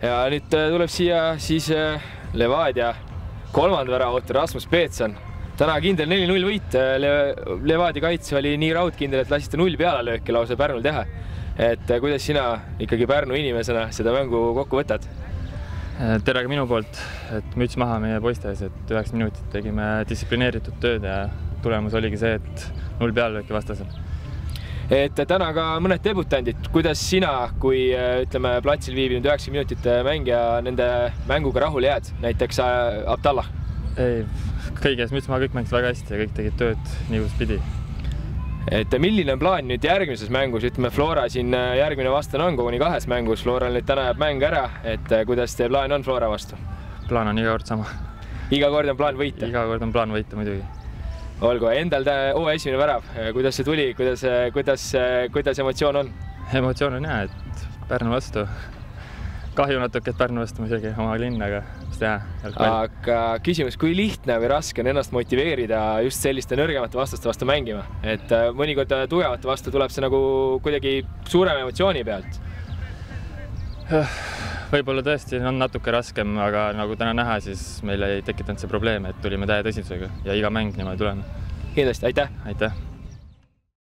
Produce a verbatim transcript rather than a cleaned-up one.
ja nüüd tuleb siia siis Levadia kolmanda väravautor Rasmus Peetson. Täna kindel neli null võit. Levadia kaitse oli nii raudkindel, et lasite null pealelööki lausa Pärnul teha. Et kuidas sina ikkagi Pärnu inimesena seda mängu kokku võtad? Tere ka minu poolt, et müts maha meie poistes, et üheksa minutit tegime distsiplineeritud tööd ja tulemus oligi see, et null pealelööki vastasel. Et täna ka mõned debutandid. Kuidas sina, kui ütleme platsil viibinud üheksa minutit mängija nende mänguga rahule jääd, näiteks Abdallah? Ei, kõiges müts maha, kõik mängis väga hästi ja kõik tegid tööd nii kus pidi. Et milline on plaan nüüd järgmises mängus? Ütleme, Flora siin järgmine vastane on koguni kahes mängus. Floral nüüd täna jääb mäng ära, et kuidas teie plaan on Flora vastu? Plaan on iga kord sama. Iga kord on plaan võita? Iga kord on plaan võita muidugi. Olgu, endal O esimene värav. Kuidas see tuli? Kuidas, kuidas, kuidas emotsioon on? Emotsioon on hea, et Pärnu vastu. Kahju natuke, et Pärnu vastu muidugi oma linn, aga mis teha. Aga küsimus, kui lihtne või raske on ennast motiveerida just selliste nõrgemate vastaste vastu mängima? Et mõnikord tugevate vastu tuleb see nagu kuidagi suurema emotsiooni pealt? Võib-olla tõesti on natuke raskem, aga nagu täna näha, siis meil ei tekitanud see probleem, et tulime täie tõsidusega ja iga mäng niimoodi tuleme. Kindlasti, aitäh! Aitäh!